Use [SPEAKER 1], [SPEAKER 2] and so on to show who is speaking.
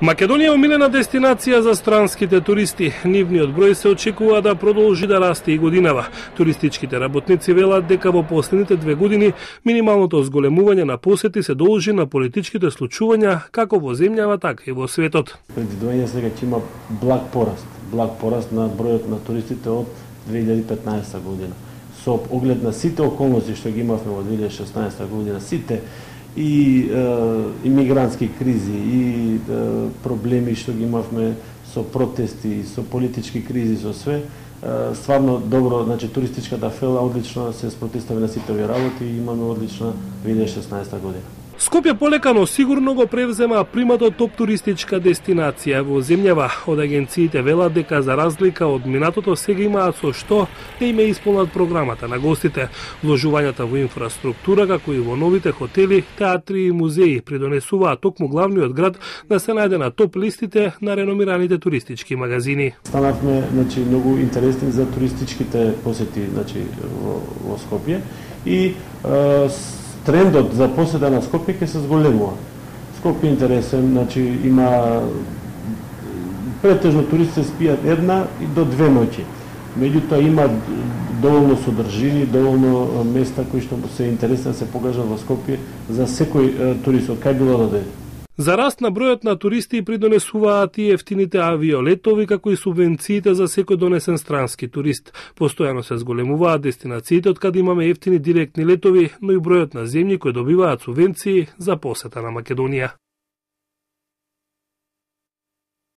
[SPEAKER 1] Македонија е омилена дестинација за странските туристи. Нивниот број се очекува да продолжи да расте и годинава. Туристичките работници велат дека во последните 2 години минималното зголемување на посети се должи на политичките случувања како во земјава, така и во светот.
[SPEAKER 2] Предвидување сега ќе има благ пораст на бројот на туристите од 2015 година. Со оглед на сите околности што ги имавме во 2016 година, сите и имигрантски кризи и проблеми што ги имавме со протести, со политички кризи, со све, стварно добро, значи туристичката фела одлично се спротивстави на сите овие работи и имаме одлична 2016 година.
[SPEAKER 1] Скопје полека, но сигурно го превзема приматот топ туристичка дестинација во земјава. Од агенциите велат дека за разлика од минатото сега имаат со што да им исполнат програмата на гостите. Вложувањата во инфраструктура, како и во новите хотели, театри и музеи придонесуваат токму главниот град да се најде на топ листите на реномираните туристички магазини.
[SPEAKER 2] Станавме, значи, многу интересни за туристичките посети, значи, во Скопје и трендот за посета на Скопје ќе се зголемува. Скопје е интересен, значи има претежно туристи спијат 1 и до 2 ноќи. Меѓутоа има доволно содржини, доволно места кои што се интересни да се покажат во Скопје за секој турист од кај било да дојде.
[SPEAKER 1] За раст на бројот на туристи придонесуваат и ефтините авиолетови, како и субвенциите за секој донесен странски турист. Постојано се зголемуваат дестинациите од каде имаме ефтини директни летови, но и бројот на земји кои добиваат субвенции за посета на Македонија.